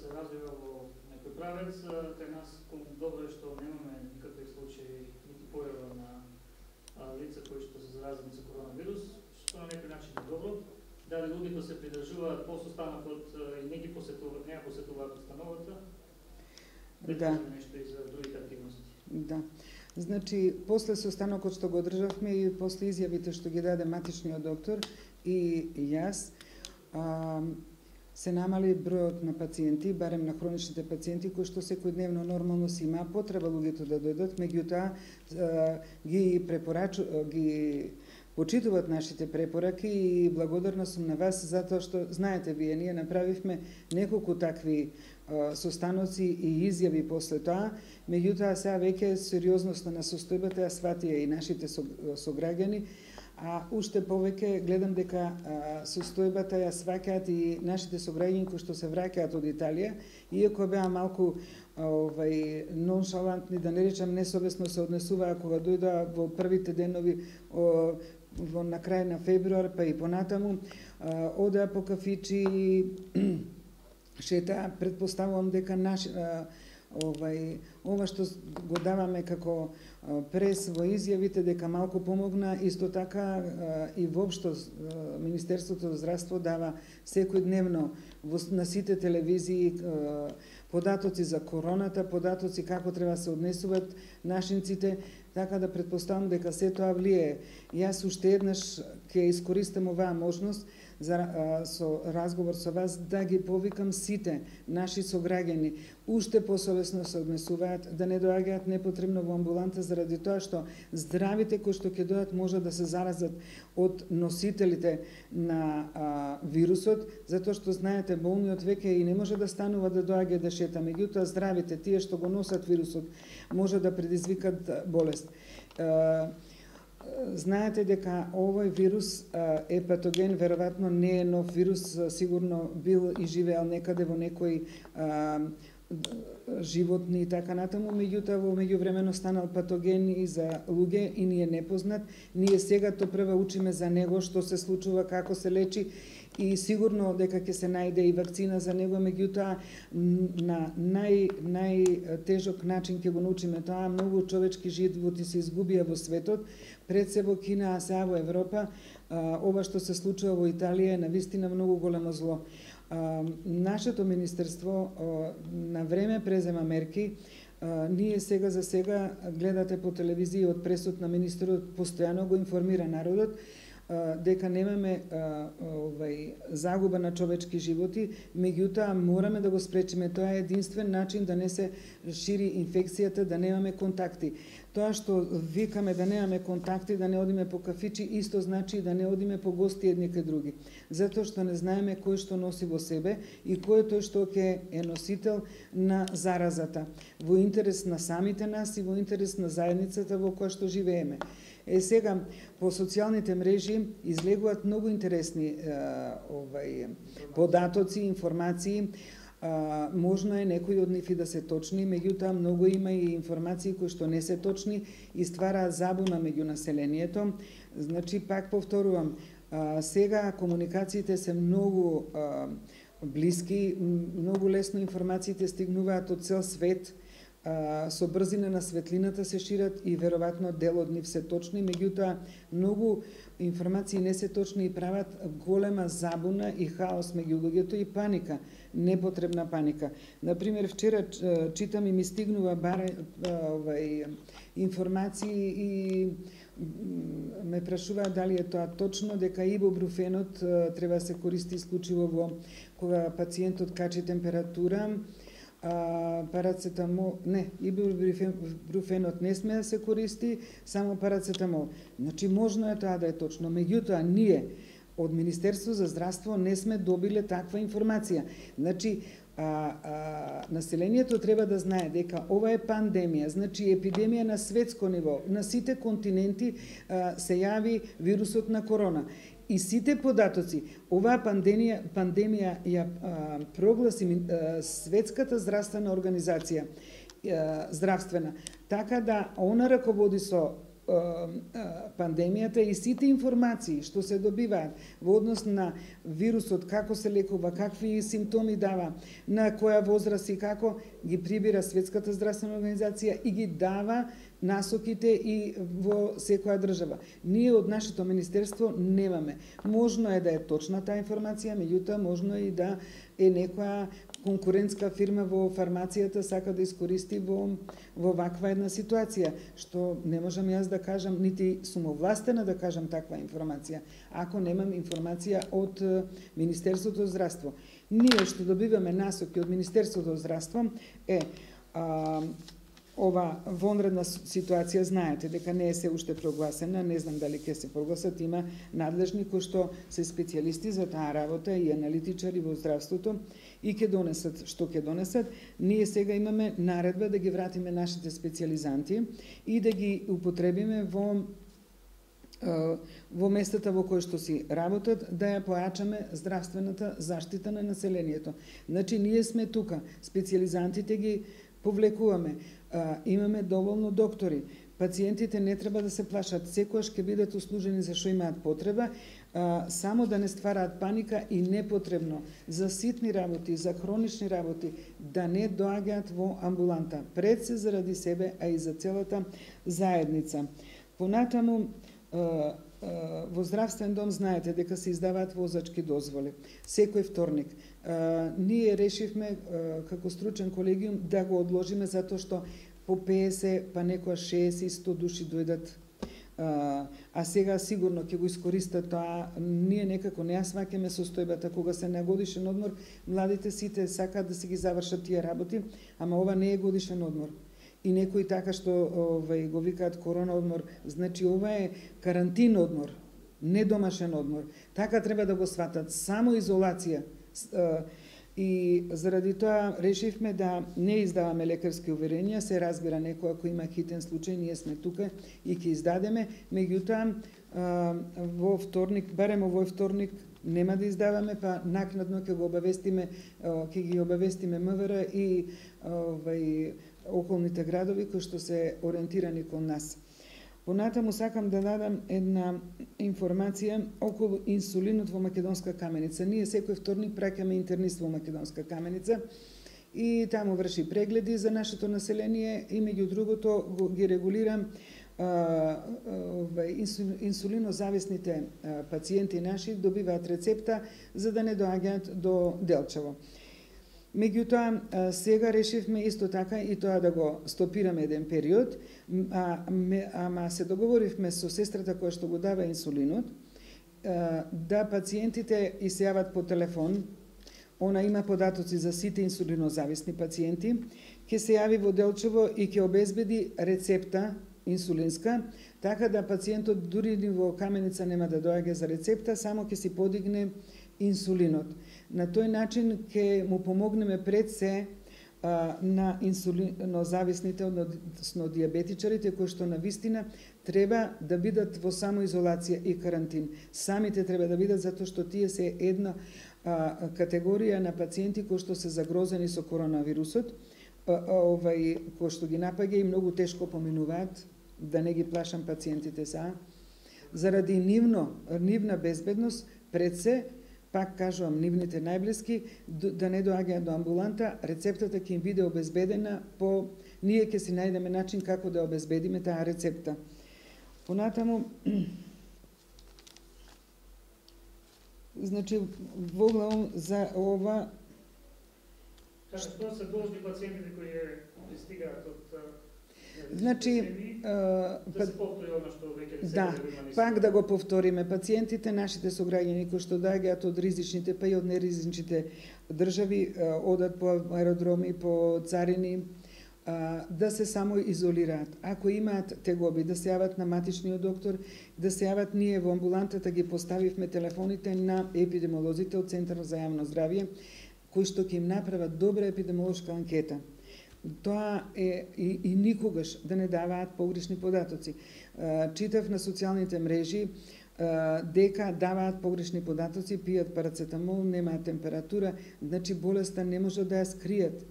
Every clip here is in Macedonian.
се развива во некој правец, кај нас добро е што немаме никакви случаи нити појава на лица кои што се заразени со коронавирус, што на некој начин е добро. Дали луѓето се придржуваат по состанокот и не ги посетуваат установата? Да. Нешто и за другите активности. Да. Значи, после состанокот што го одржавме и после изјавите што ги даде матичниот доктор и јас, се намали бројот на пациенти, барем на хроничните пациенти, кои што секојдневно нормално си има потреба луѓето да дојдат, меѓутоа ги почитуваат нашите препораки и благодарна сум на вас затоа што знаете вие, ние направивме неколку такви состаноци и изјави после тоа, меѓутоа сега веќе сериозноста на состојбата ја сватија и нашите сограѓани, а уште повеќе гледам дека состојбата ја сваќаат и нашите сограѓани кои што се враќаат од Италија, иако беа малку ноншалантни, да не речам несовесно се однесуваа кога дојдоа во првите денови на крај на февруар, па и понатаму, одеа по кафичи и шетаа, предпоставувам дека ова што го даваме како прес во изјавите дека малку помогна, исто така и воопшто Министерството за здравство дава секојдневно на сите телевизии податоци за короната, податоци како треба се однесуваат нашинците, така да предпоставам дека се тоа влие. Јас уште еднаш ќе искористам оваа можност со разговор со вас да ги повикам сите наши сограѓани уште посовесно се однесуваат, да не доаѓаат непотребно во амбуланта заради тоа што здравите кои што ќе дојдат може да се заразат од носителите на вирусот, затоа што знаете болниот веќе и не може да станува да доаѓа да шета, меѓутоа здравите, тие што го носат вирусот, може да предизвикат болест. Знаете дека овој вирус е патоген, веројатно не е нов вирус, сигурно бил и живеел некаде во некои животни и така натаму, меѓутоа во меѓувремено станал патоген и за луѓе и ни е непознат. Ние сега прва учиме за него, што се случува, како се лечи и сигурно дека ќе се најде и вакцина за него, меѓутоа на најтежок начин ќе го научиме тоа. Многу човечки животи се изгубија во светот, пред се во Кина, а сега во Европа. Ова што се случува во Италија е навистина многу големо зло. Нашето министерство на време презема мерки. Ние сега за сега гледате по телевизија од пресот на министерот постојано го информира народот дека немаме загуба на човечки животи, меѓутоа мораме да го спречиме. Тоа е единствен начин да не се шири инфекцијата, да немаме контакти. Тоа што викаме да немаме контакти, да не одиме по кафичи, исто значи да не одиме по гости едни кај други. Затоа што не знаеме кој што носи во себе и кој е тој што ќе е носител на заразата. Во интерес на самите нас и во интерес на заедницата во која што живееме. Сега, по социјалните мрежи излегуваат многу интересни податоци, информации. Можно е некои од нив и да се точни, меѓутоа многу има и информации кои што не се точни и ствараат забуна меѓу населението. Значи, пак повторувам, сега комуникациите се многу блиски, многу лесно информациите стигнуваат од цел свет, со брзина на светлината се шират и веројатно дел од нив се точни, меѓутоа многу информации не се точни и прават голема забуна и хаос меѓу луѓето и паника, непотребна паника. Например, вчера читам и ми стигнува информации и ме прашуваат дали е тоа точно дека ибупрофенот треба да се користи исклучиво во кога пациентот качи температура, парацетамол, не, ибупрофенот не сме да се користи, само парацетамол. Значи, можно е тоа да е точно, меѓутоа ние од Министерство за здравство не сме добиле таква информација. Значи, населението треба да знае дека ова е пандемија, значи епидемија на светско ниво, на сите континенти се јави вирусот на корона. И сите податоци, оваа пандемија ја прогласи Светската здравствена организација, здравствена, така да она раководи со пандемијата и сите информации што се добиваат во однос на вирусот, како се лекува, какви симптоми дава, на која возраст и како, ги прибира Светската здравствена организација и ги дава насоките и во секоја држава. Ние од нашето министерство немаме. Можно е да е точна таа информација, меѓутоа можно е и да е некоја конкурентска фирма во фармацијата сака да искористи во ваква една ситуација, што не можам јас да кажам, нити сум овластена да кажам таква информација, ако немам информација од Министерството за здравство. Ние што добиваме насоки од Министерството за здравство е ова вонредна ситуација, знаете дека не е се уште прогласена, не знам дали ќе се прогласат, има надлежни кои што се специјалисти за таа работа и аналитичари во здравството и ќе донесат што ќе донесат. Ние сега имаме наредба да ги вратиме нашите специјализанти и да ги употребиме во местата во кои што си работат, да ја појачаме здравствената заштита на населението. Значи, ние сме тука, специјализантите ги повлекуваме, имаме доволно доктори, пациентите не треба да се плашат, секојаш ќе бидат услужени за што имаат потреба, само да не ствараат паника и непотребно за ситни работи, за хронични работи, да не доаѓаат во амбуланта, пред се заради себе, а и за целата заедница. Понатаму, во здравствен дом знаете дека се издаваат возачки дозволи секој вторник. Ние решивме како стручен колегиум да го одложиме затоа што по 50, па некоја 60 и 100 души дојдат. А сега сигурно ќе го искористат тоа. Ние некако не ја сваќаме состојбата кога се на годишен одмор, младите сите сакаат да си ги завршат тие работи, ама ова не е годишен одмор. И некои така што го викаат корона одмор, значи ова е карантин одмор, не домашен одмор. Така треба да го сватат, само изолација. И заради тоа решивме да не издаваме лекарски уверенија, се разбира некој ако има хитен случај, ние сме тука и ќе издадеме, меѓутоа во вторник, барем овој вторник нема да издаваме, па накнадно ќе го обавестиме, ќе ги обавестиме МВР и околните градови кои што се ориентирани кон нас. Понатаму сакам да дадам една информација околу инсулинот во Македонска Каменица. Ние секој вторник праќаме интернист во Македонска Каменица и таму врши прегледи за нашето население и меѓу другото ги регулирам инсулинозависните пациенти наши добиваат рецепта за да не доаѓаат до Делчево. Меѓутоа, сега решивме исто така и тоа да го стопираме еден период, ама се договоривме со сестрата која што го дава инсулинот, да пациентите исјават по телефон, она има податоци за сите инсулинозависни пациенти, ќе се јави во Делчево и ќе обезбеди рецепта инсулинска, така да пациентот дури во Каменица нема да доаѓа за рецепта, само ќе си подигне инсулинот. На тој начин ќе му помогнеме пред се на инсулинозависните, односно диабетичарите, кои што навистина треба да бидат во самоизолација и карантин. Самите треба да бидат затоа што тие се една категорија на пациенти кои што се загрозени со коронавирусот, кои што ги напаѓа и многу тешко поминуваат, да не ги плашам пациентите са. Заради нивна безбедност пред се, пак кажувам, нивните најблиски, да не доаѓаат до амбуланта, рецептата ќе им биде обезбедена ние ќе си најдеме начин како да обезбедиме таа рецепта. Понатаму, значи, воглавом за ова... Што се должни пациентите кои пристигаат од... Значи, да се повтори она што веќе да, пак да го повториме, пациентите, нашите сограѓани кои што доаѓаат од ризичните, па и од неризичните држави, одат по аеродроми, по царини, да се само изолираат. Ако имаат тегоби, да се јават на матичниот доктор, да се јават ние во амбулантата, ги поставивме телефоните на епидемиолозите од Центарот за јавно здравје, кои што ќе им направат добра епидемиолошка анкета. Тоа е и никогаш да не даваат погрешни податоци. Читав на социјалните мрежи дека даваат погрешни податоци, пијат парацетамол, немаат температура, значи болеста не може да ја скријат.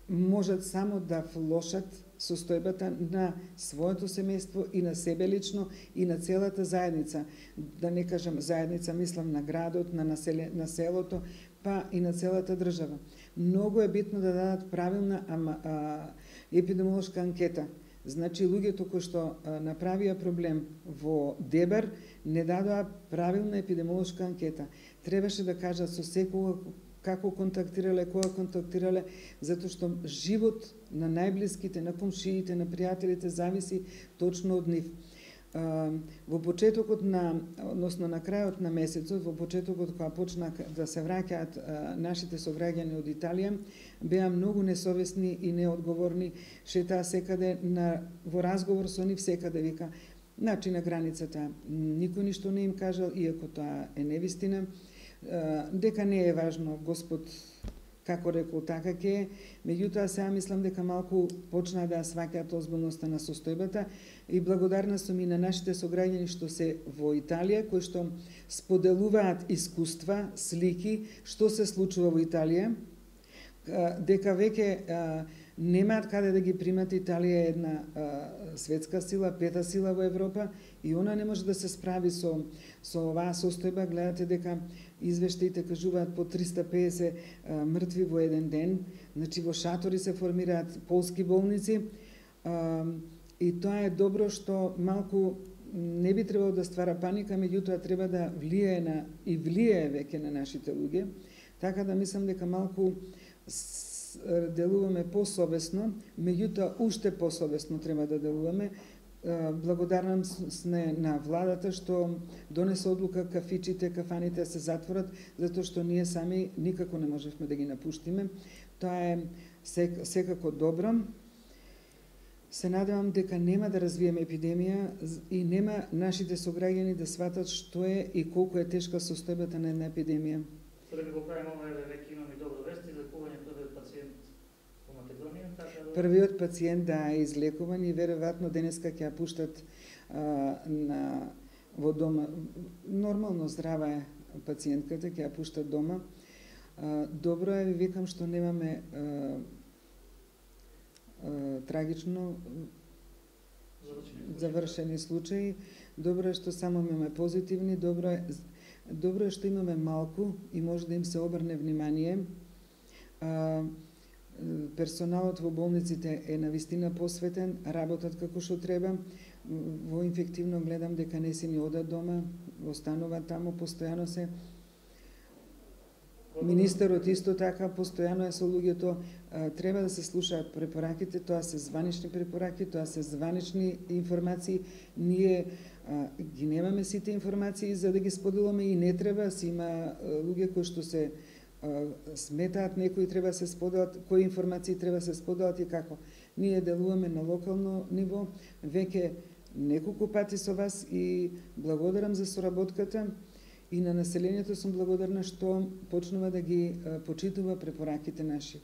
Можат само да влошат состојбата на своето семејство и на себе лично и на целата заедница. Да не кажам заедница, мислам на градот, на селото, па и на целата држава. Многу е битно да дадат правилна епидемиолошка анкета. Значи, луѓето кои што направија проблем во Дебар не дадоа правилна епидемиолошка анкета. Требаше да кажат со секоја како контактирале, кога контактирале, затоа што живот на најблиските, на комшиите, на пријателите зависи точно од нив. Во почетокот односно на крајот на месецот, во почетокот кога почна да се враќаат нашите сограѓани од Италија, беа многу несовесни и неодговорни, шетаа секаде во разговор со нив секаде вика, значи на границата никој ништо не им кажал, иако тоа е невистина, дека не е важно Господ како рекол така ќе е, меѓутоа сега мислам дека малку почнаа да сваќаат озбилноста на состојбата и благодарна сум и на нашите сограѓани што се во Италија, кои што споделуваат искуства, слики, што се случува во Италија, дека веќе немаат каде да ги примат. Италија е една светска сила, пета сила во Европа и она не може да се справи со оваа состојба. Гледате дека извештаите кажуваат по 350 мртви во еден ден, значи во шатори се формираат полски болници и тоа е добро што малку не би требало да ствара паника, меѓутоа треба да влијае и влијае веќе на нашите луѓе, така да мислам дека малку делуваме посовесно, меѓутоа уште посовесно треба да делуваме. Благодарам сме на владата што донесе одлука кафичите, кафаните се затворат, затоа што ние сами никако не можевме да ги напуштиме. Тоа е секако добро. Се надевам дека нема да развиеме епидемија и нема нашите сограѓани да сватат што е и колку е тешка состојбата на една епидемија. Да го правиме ова, веќе имаме добро вести за лекување првиот пациент во Македонија, така да... Првиот пациент е излекуван и веројатно денеска ќе ја пуштат во дома. Нормално здрава е пациентката, ќе ја пуштат дома. Добро е, ви викам, што немаме трагично завршени случаи. Добро е што само имаме позитивни, добро е што имаме малку и може да им се обрне внимание. Персоналот во болниците е навистина посветен, работат како што треба. Во инфективно гледам дека не си ни одат дома, остануваат таму, постојано се. Министерот исто така постојано е со луѓето. Треба да се слушаат препораките, тоа се званични препораки, тоа се званични информации. Ние ги немаме сите информации за да ги споделуваме и не треба. Си има луѓе кои што се сметаат, некои треба се споделат, кои информации треба се споделат и како. Ние делуваме на локално ниво, веќе неколку пати со вас и благодарам за соработката. И на населението сум благодарна што почнува да ги почитува препораките наши.